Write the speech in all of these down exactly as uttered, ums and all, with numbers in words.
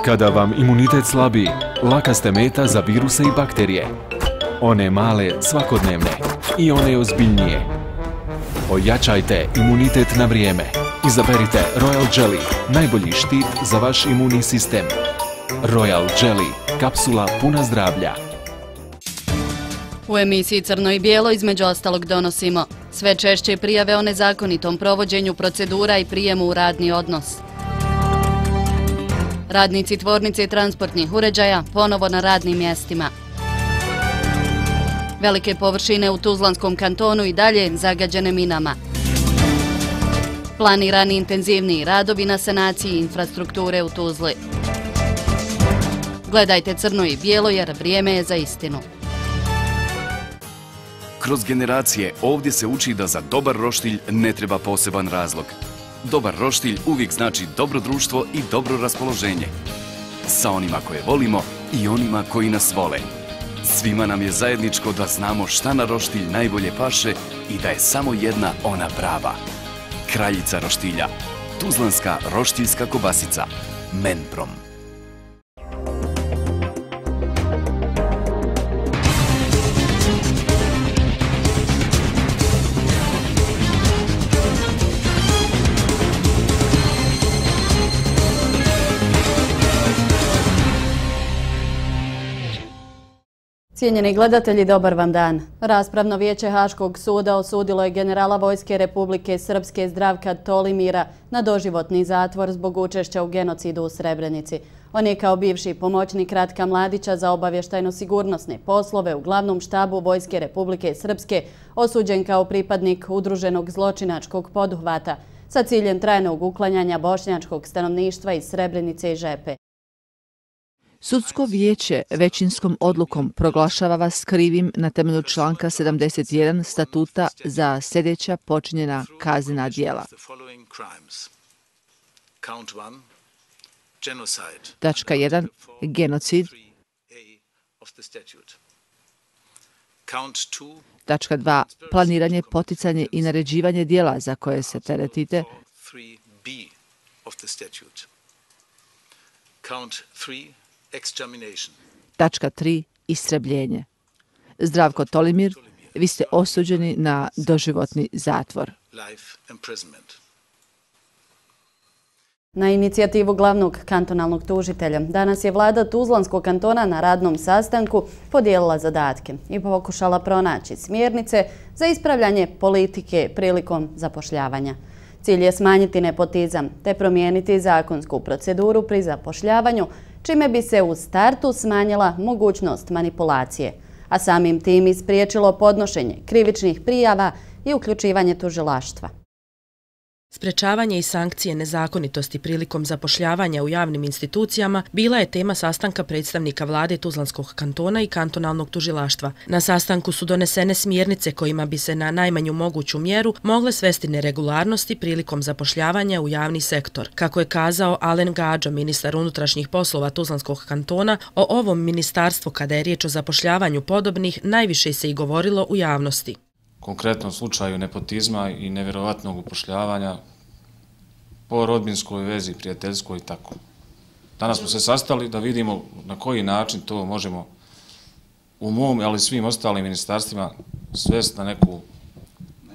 Kada vam imunitet slabi, laka ste meta za viruse i bakterije. One male, svakodnevne i one ozbiljnije. Ojačajte imunitet na vrijeme. Izaberite Royal Jelly, najbolji štit za vaš imunni sistem. Royal Jelly, kapsula puna zdravlja. U emisiji Crno i bijelo između ostalog donosimo sve češće prijave o nezakonitom provođenju procedura i prijemu u radni odnos. Radnici tvornice transportnih uređaja ponovo na radnim mjestima. Velike površine u Tuzlanskom kantonu i dalje zagađene minama. Planirani intenzivniji radovi na sanaciji infrastrukture u Tuzli. Gledajte Crno i bijelo jer vrijeme je za istinu. Kroz generacije ovdje se uči da za dobar roštilj ne treba poseban razlog. Dobar roštilj uvijek znači dobro društvo i dobro raspoloženje. Sa onima koje volimo i onima koji nas vole. Svima nam je zajedničko da znamo šta na roštilj najbolje paše i da je samo jedna ona prava. Kraljica roštilja. Tuzlanska roštiljska kobasica. Menprom. Cijenjeni gledatelji, dobar vam dan. Raspravno vijeće Haškog suda osudilo je generala Vojske Republike Srpske Zdravka Tolimira na doživotni zatvor zbog učešća u genocidu u Srebrenici. On je kao bivši pomoćnik Ratka Mladića za obavještajno-sigurnosne poslove u glavnom štabu Vojske Republike Srpske osuđen kao pripadnik udruženog zločinačkog poduhvata sa ciljem trajnog uklanjanja bošnjačkog stanovništva iz Srebrenice i Žepe. Sudsko vijeće većinskom odlukom proglašava vas krivim na temelju članka sedamdeset jedan statuta za sljedeća počinjena kaznena djela. Tačka jedan. Genocid. Tačka dva. Planiranje, poticanje i naređivanje djela za koje se teretite. Tačka tri. Istrebljenje. Zdravko Tolimir, vi ste osuđeni na doživotni zatvor. Na inicijativu glavnog kantonalnog tužitelja danas je vlada Tuzlanskog kantona na radnom sastanku podijelila zadatke i pokušala pronaći smjernice za ispravljanje politike prilikom zapošljavanja. Cilj je smanjiti nepotizam te promijeniti zakonsku proceduru pri zapošljavanju, čime bi se u startu smanjila mogućnost manipulacije, a samim tim i spriječilo podnošenje krivičnih prijava i uključivanje tužilaštva. Sprečavanje i sankcije nezakonitosti prilikom zapošljavanja u javnim institucijama bila je tema sastanka predstavnika vlade Tuzlanskog kantona i kantonalnog tužilaštva. Na sastanku su donesene smjernice kojima bi se na najmanju moguću mjeru mogle svesti neregularnosti prilikom zapošljavanja u javni sektor. Kako je kazao Alen Gadžo, ministar unutrašnjih poslova Tuzlanskog kantona, o ovom ministarstvu kada je riječ o zapošljavanju podobnih najviše se i govorilo u javnosti. Konkretnom slučaju nepotizma i nevjerovatnog upošljavanja po rodbinskoj vezi, prijateljskoj i tako. Danas smo se sastali da vidimo na koji način to možemo u mom, ali svim ostalim ministarstvima svesti na neku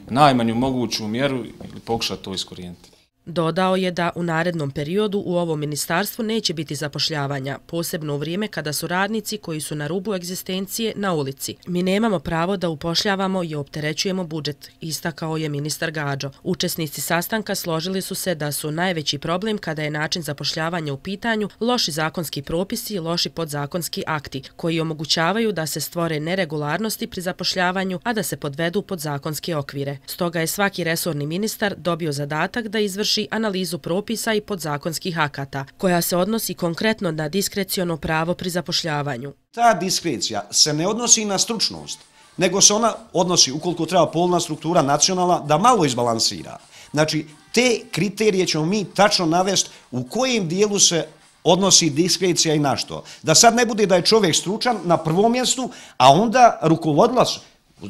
najmanju moguću mjeru ili pokušati to iskorijeniti. Dodao je da u narednom periodu u ovom ministarstvu neće biti zapošljavanja, posebno u vrijeme kada su radnici koji su na rubu egzistencije na ulici. Mi nemamo pravo da upošljavamo i opterećujemo budžet, istakao je ministar Gadžo. Učesnici sastanka složili su se da su najveći problem kada je način zapošljavanja u pitanju loši zakonski propisi i loši podzakonski akti, koji omogućavaju da se stvore neregularnosti pri zapošljavanju, a da se podvedu pod zakonske okvire. Stoga je svaki resorni ministar dobio zadatak da izvrši analizu propisa i podzakonskih akata, koja se odnosi konkretno na diskreciono pravo pri zapošljavanju. Ta diskrecija se ne odnosi na stručnost, nego se ona odnosi, ukoliko treba polna struktura nacionalna, da malo izbalansira. Znači, te kriterije ćemo mi tačno navesti u kojem dijelu se odnosi diskrecija i na što. Da sad ne bude da je čovjek stručan na prvom mjestu, a onda rukovodilac,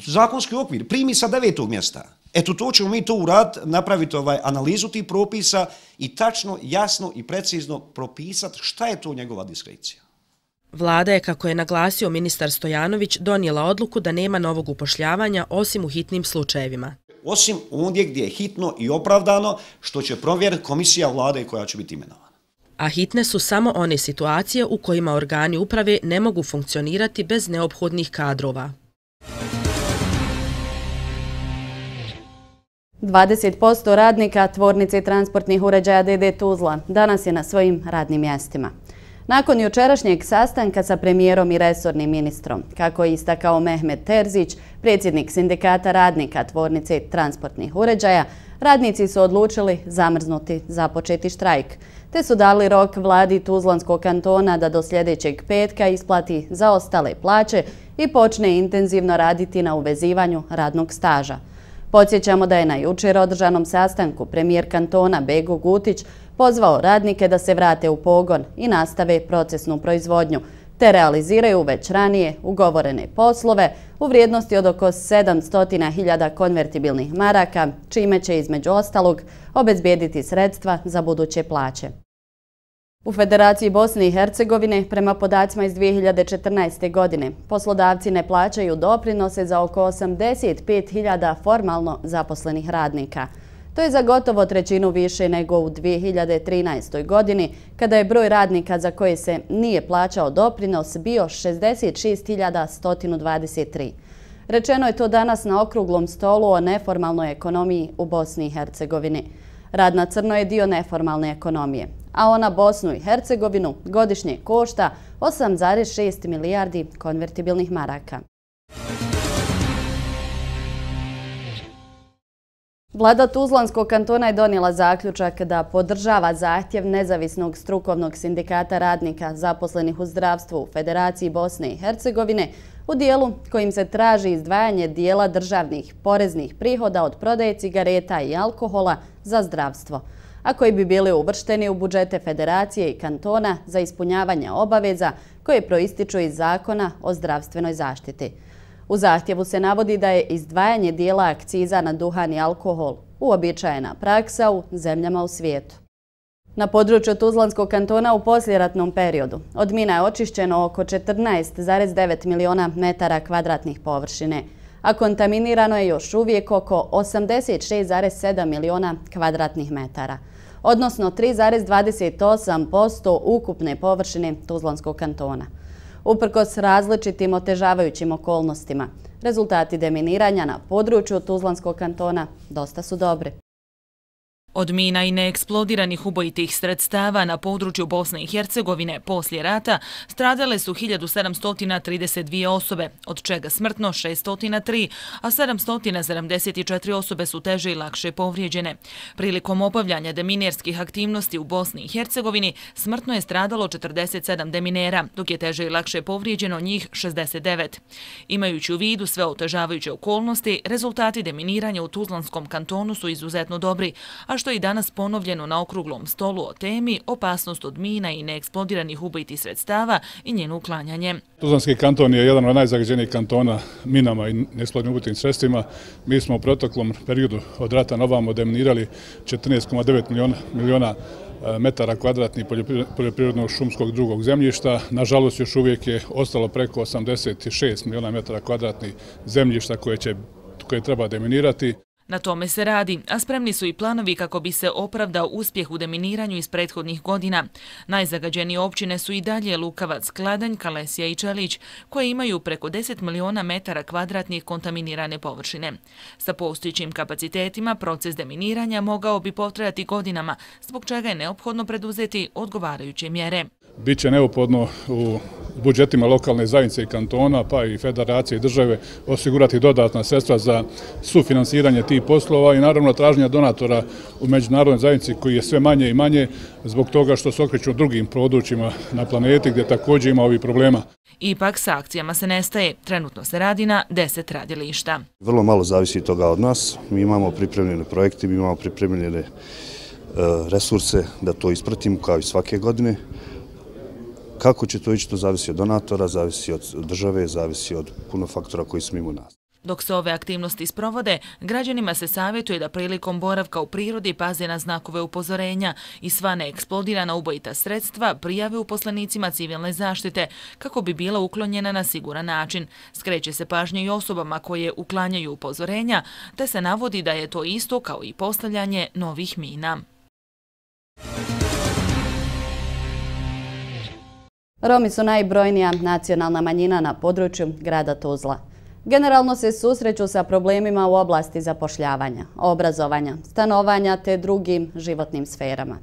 zakonski okvir, primi sa devetog mjesta. Eto, to ćemo mi to uraditi, napraviti ovaj analizu tih propisa i tačno, jasno i precizno propisati šta je to njegova diskrecija. Vlada je, kako je naglasio ministar Stojanović, donijela odluku da nema novog upošljavanja osim u hitnim slučajevima. Osim ondje gdje je hitno i opravdano, što će provjeriti komisija vlade koja će biti imenovana. A hitne su samo one situacije u kojima organi uprave ne mogu funkcionirati bez neophodnih kadrova. dvadeset posto radnika tvornice transportnih uređaja D D Tuzla danas je na svojim radnim mjestima. Nakon jučerašnjeg sastanka sa premijerom i resornim ministrom, kako je istakao Mehmet Terzić, predsjednik sindikata radnika tvornice transportnih uređaja, radnici su odlučili zamrznuti započeti štrajk, te su dali rok vladi Tuzlanskog kantona da do sljedećeg petka isplati zaostale plaće i počne intenzivno raditi na uvezivanju radnog staža. Podsjećamo da je na jučer održanom sastanku premijer kantona Bego Gutić pozvao radnike da se vrate u pogon i nastave procesnu proizvodnju, te realiziraju već ranije ugovorene poslove u vrijednosti od oko sedamsto hiljada konvertibilnih maraka, čime će između ostalog obezbijediti sredstva za buduće plaće. U Federaciji Bosne i Hercegovine, prema podacima iz dvije hiljade četrnaeste. godine, poslodavci ne plaćaju doprinose za oko osamdeset pet hiljada formalno zaposlenih radnika. To je za gotovo trećinu više nego u dvije hiljade trinaestoj. godini, kada je broj radnika za koje se nije plaćao doprinos bio šezdeset šest hiljada sto dvadeset tri. Rečeno je to danas na okruglom stolu o neformalnoj ekonomiji u Bosni i Hercegovini. Rad na crno je dio neformalne ekonomije, a ona Bosnu i Hercegovinu godišnje košta osam zarez šest milijardi konvertibilnih maraka. Vlada Tuzlanskog kantona je donijela zaključak da podržava zahtjev nezavisnog strukovnog sindikata radnika zaposlenih u zdravstvu u Federaciji Bosne i Hercegovine u dijelu kojim se traži izdvajanje dijela državnih poreznih prihoda od prodaje cigareta i alkohola za zdravstvo, a koji bi bili uvršteni u budžete Federacije i kantona za ispunjavanje obaveza koje proističu iz Zakona o zdravstvenoj zaštiti. U zahtjevu se navodi da je izdvajanje dijela akciza na duhan i alkohol uobičajena praksa u zemljama u svijetu. Na području Tuzlanskog kantona u poslijeratnom periodu od mina je očišćeno oko četrnaest zarez devet miliona metara kvadratnih površine, a kontaminirano je još uvijek oko osamdeset šest zarez sedam miliona kvadratnih metara, odnosno tri zarez dvadeset osam posto ukupne površine Tuzlanskog kantona. Uprkos različitim otežavajućim okolnostima, rezultati deminiranja na području Tuzlanskog kantona dosta su dobri. Od mina i neeksplodiranih ubojitih sredstava na području Bosne i Hercegovine poslije rata stradale su hiljadu sedamsto trideset dvije osobe, od čega smrtno šeststo tri, a sedamsto sedamdeset četiri osobe su teže i lakše povrijeđene. Prilikom obavljanja deminierskih aktivnosti u Bosni i Hercegovini smrtno je stradalo četrdeset sedam deminera, dok je teže i lakše povrijeđeno njih šezdeset devet. Imajući u vidu sve otežavajuće okolnosti, rezultati deminiranja u Tuzlanskom kantonu su izuzetno dobri, a što je i danas ponovljeno na okruglom stolu o temi opasnost od mina i neeksplodiranih ubojitih sredstava i njeno uklanjanje. Tuzlanski kanton je jedan od najzagađenijih kantona minama i neeksplodiranim ubojitim sredstvima. Mi smo u proteklom periodu od rata na ovamo deminirali četrnaest zarez devet miliona metara kvadratnih poljoprivrednog šumskog drugog zemljišta. Nažalost, još uvijek je ostalo preko osamdeset šest miliona metara kvadratnih zemljišta koje, će, koje treba deminirati. Na tome se radi, a spremni su i planovi kako bi se opravdao uspjeh u deminiranju iz prethodnih godina. Najzagađenije općine su i dalje Lukavac, Kladanj, Kalesija i Čelić, koje imaju preko deset miliona metara kvadratnih kontaminirane površine. Sa postojećim kapacitetima proces deminiranja mogao bi potrajati godinama, zbog čega je neophodno preduzeti odgovarajuće mjere. Biće neophodno u budžetima lokalne zajednice i kantona, pa i federacije i države osigurati dodatna sredstva za sufinansiranje tih poslova i naravno traženja donatora u međunarodnoj zajednici koji je sve manje i manje zbog toga što se okreću drugim područjima na planeti gdje također ima ovih problema. Ipak sa akcijama se nestaje. Trenutno se radi na deset radilišta. Vrlo malo zavisi toga od nas. Mi imamo pripremljene projekte, mi imamo pripremljene resurse da to ispratimo kao i svake godine. Kako će to ići, to zavisi od donatora, zavisi od države, zavisi od puno faktora koji su mimo nas. Dok se ove aktivnosti sprovode, građanima se savjetuje da prilikom boravka u prirodi paze na znakove upozorenja i sva neeksplodirana ubojita sredstva prijave uposlenicima civilne zaštite kako bi bila uklonjena na siguran način. Skreće se pažnje i osobama koje uklanjaju upozorenja, te se navodi da je to isto kao i postavljanje novih mina. Romi su najbrojnija nacionalna manjina na području grada Tuzla. Generalno se susreću sa problemima u oblasti zapošljavanja, obrazovanja, stanovanja te drugim životnim sferama.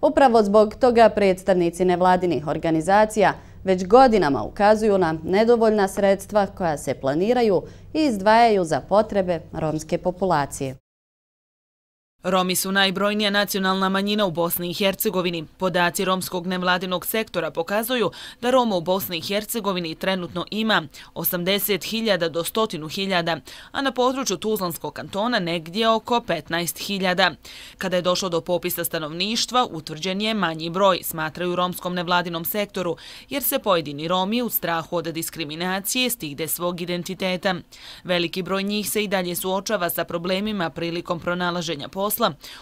Upravo zbog toga predstavnici nevladinih organizacija već godinama ukazuju na nedovoljna sredstva koja se planiraju i izdvajaju za potrebe romske populacije. Romi su najbrojnija nacionalna manjina u Bosni i Hercegovini. Podaci romskog nevladinog sektora pokazuju da Roma u Bosni i Hercegovini trenutno ima osamdeset hiljada do sto hiljada, a na području Tuzlanskog kantona negdje oko petnaest hiljada. Kada je došlo do popisa stanovništva, utvrđen je manji broj, smatraju romskom nevladinom sektoru, jer se pojedini Romi u strahu od diskriminacije stide svog identiteta. Veliki broj njih se i dalje suočava sa problemima prilikom pronalaženja posla,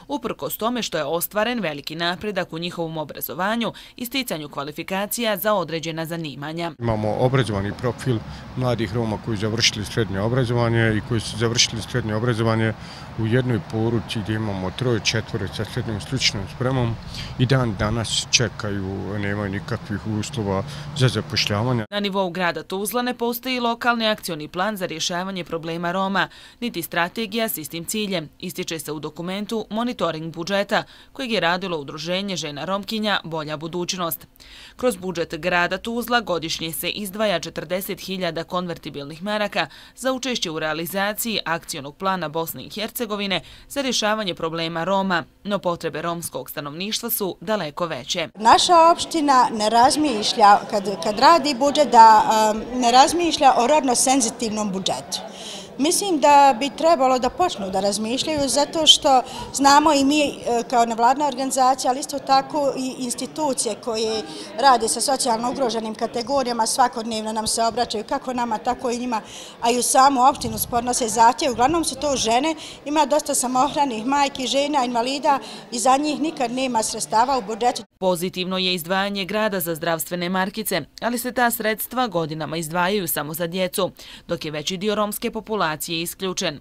uprkos tome što je ostvaren veliki napredak u njihovom obrazovanju i sticanju kvalifikacija za određena zanimanja. Imamo obrazovani profil mladih Roma koji su završili srednje obrazovanje i koji su završili srednje obrazovanje u jednoj poruci gdje imamo troje, četvore sa srednjom stručnom spremom i dan danas čekaju, nemaju nikakvih uslova za zapošljavanje. Na nivou grada Tuzla ne postoji lokalni akcioni plan za rješavanje problema Roma, niti strategija s istim ciljem, ističe se u dokumentu Monitoring budžeta, kojeg je radilo Udruženje žena Romkinja Bolja budućnost. Kroz budžet grada Tuzla godišnje se izdvaja četrdeset hiljada konvertibilnih maraka za učešće u realizaciji akcionog plana Bosne i Hercegovine za rješavanje problema Roma, no potrebe romskog stanovništva su daleko veće. Naša opština ne razmišlja, kad, kad radi budžet, da um, ne razmišlja o rodno senzitivnom budžetu. Mislim da bi trebalo da počnu da razmišljaju zato što znamo i mi kao nevladna organizacija, ali isto tako i institucije koje rade sa socijalno ugroženim kategorijama svakodnevno nam se obraćaju kako nama, tako i njima, a i u samu opštinu podnose zahtjev. Uglavnom su to žene, ima dosta samohranih majki, žena, invalida i za njih nikad nema sredstava u budžetu. Pozitivno je izdvajanje grada za zdravstvene markice, ali se ta sredstva godinama izdvajaju samo za djecu, dok je veći dio romske populacije isključen.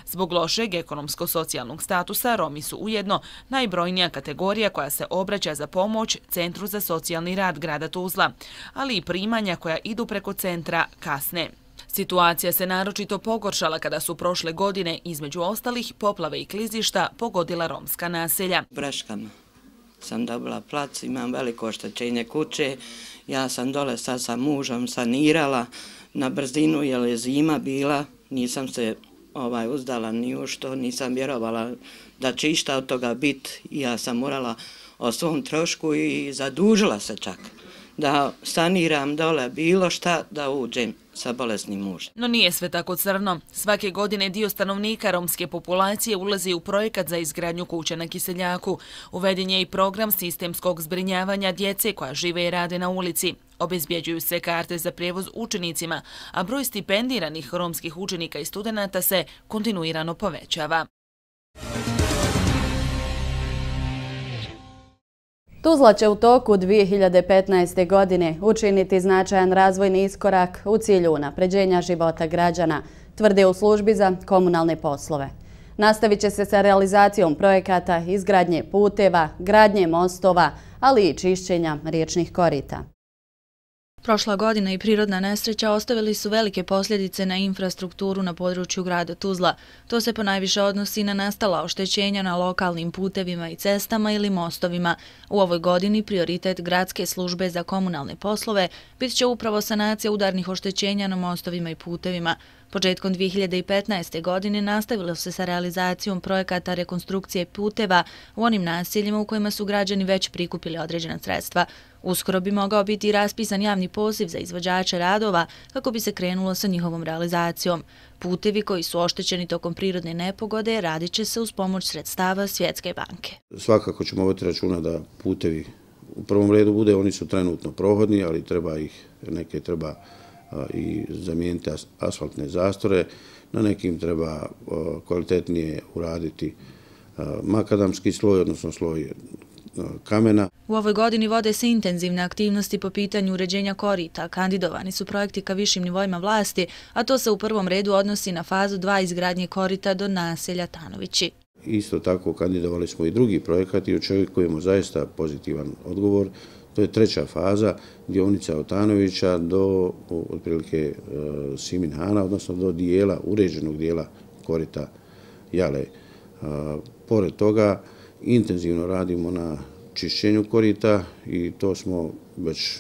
Zbog lošeg ekonomsko-socijalnog statusa, Romi su ujedno najbrojnija kategorija koja se obraća za pomoć Centru za socijalni rad grada Tuzla, ali i primanja koja idu preko centra kasne. Situacija se naročito pogoršala kada su prošle godine, između ostalih, poplave i klizišta pogodila romska naselja. Breškama sam dobila plac, imam veliko oštećenje kuće, ja sam dole sad sa mužom sanirala na brzinu jer je zima bila, nisam se ovaj, uzdala ni u što, nisam vjerovala da će išta od toga biti i ja sam morala o svom trošku i zadužila se čak da saniram dole bilo šta da uđem sa bolesnim mužem. No nije sve tako crno. Svake godine dio stanovnika romske populacije ulazi u projekat za izgradnju kuća na Kiseljaku. Uveden je i program sistemskog zbrinjavanja djece koja žive i rade na ulici. Obezbjeđuju se karte za prijevoz učenicima, a broj stipendiranih romskih učenika i studenata se kontinuirano povećava. Tuzla će u toku dvije hiljade petnaeste. godine učiniti značajan razvojni iskorak u cilju unapređenja života građana, tvrde u službi za komunalne poslove. Nastavit će se sa realizacijom projekata izgradnje puteva, gradnje mostova, ali i čišćenja riječnih korita. Prošla godina i prirodna nesreća ostavili su velike posljedice na infrastrukturu na području grada Tuzla. To se ponajviše odnosi na nastala oštećenja na lokalnim putevima i cestama ili mostovima. U ovoj godini prioritet Gradske službe za komunalne poslove bit će upravo sanacija udarnih oštećenja na mostovima i putevima. Početkom dvije hiljade petnaeste. godine nastavilo se sa realizacijom projekata rekonstrukcije puteva u onim naseljima u kojima su građani već prikupili određena sredstva. Uskoro bi mogao biti raspisan javni poziv za izvođače radova kako bi se krenulo sa njihovom realizacijom. Putevi koji su oštećeni tokom prirodne nepogode radit će se uz pomoć sredstava Svjetske banke. Svakako ćemo voditi računa da putevi u prvom redu bude, oni su trenutno prohodni, ali treba ih, neke treba i zamijeniti asfaltne zastore. na nekim treba kvalitetnije uraditi makadamski sloj, odnosno sloj kamena. U ovoj godini vode se intenzivne aktivnosti po pitanju uređenja korita. Kandidovani su projekti ka višim nivoima vlasti, a to se u prvom redu odnosi na fazu dva izgradnje korita do naselja Tanovići. Isto tako kandidovali smo i drugi projekat i očekujemo zaista pozitivan odgovor. To je treća faza, dionica od Tanovića do otprilike Siminhana, odnosno do dijela, uređenog dijela korita Jale. Pored toga, intenzivno radimo na čišćenju korita i to smo već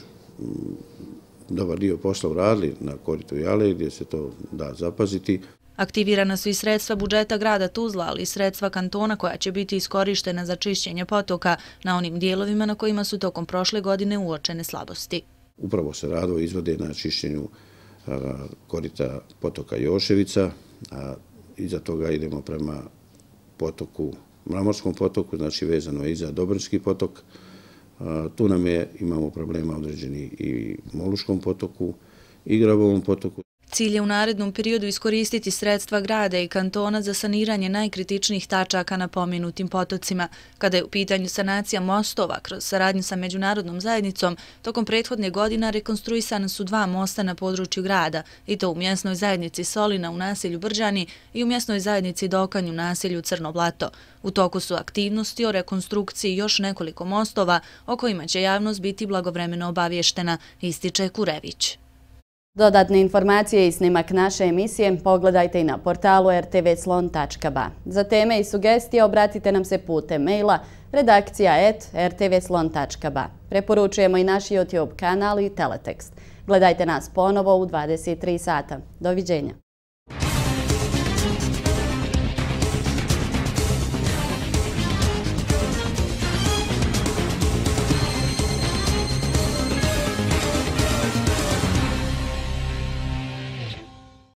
dobar dio posla uradili na koritu Jale gdje se to da zapaziti. Aktivirana su i sredstva budžeta grada Tuzla, ali i sredstva kantona koja će biti iskorištena za čišćenje potoka na onim dijelovima na kojima su tokom prošle godine uočene slabosti. Upravo se radovi izvode na čišćenju korita potoka Joševica, a iza toga idemo prema potoku, Mramorskom potoku, znači vezano je i za Dobrinski potok. Tu nam je, imamo problema određeni i Moluškom potoku i Grabovom potoku. Cilj je u narednom periodu iskoristiti sredstva grada i kantona za saniranje najkritičnijih tačaka na pomenutim potocima. Kada je u pitanju sanacija mostova kroz saradnju sa međunarodnom zajednicom, tokom prethodne godina rekonstruisana su dva mosta na području grada, i to u mjesnoj zajednici Solina u naselju Brđani i u mjesnoj zajednici Dokanj u naselju Crno Blato. U toku su aktivnosti o rekonstrukciji još nekoliko mostova o kojima će javnost biti blagovremeno obavještena, ističe Kurević. Dodatne informacije i snimak naše emisije pogledajte i na portalu r t v slon tačka b a. Za teme i sugestije obratite nam se putem maila redakcija et r t v slon tačka b a. Preporučujemo i naš YouTube kanal i teletekst. Gledajte nas ponovo u dvadeset tri sata. Doviđenja.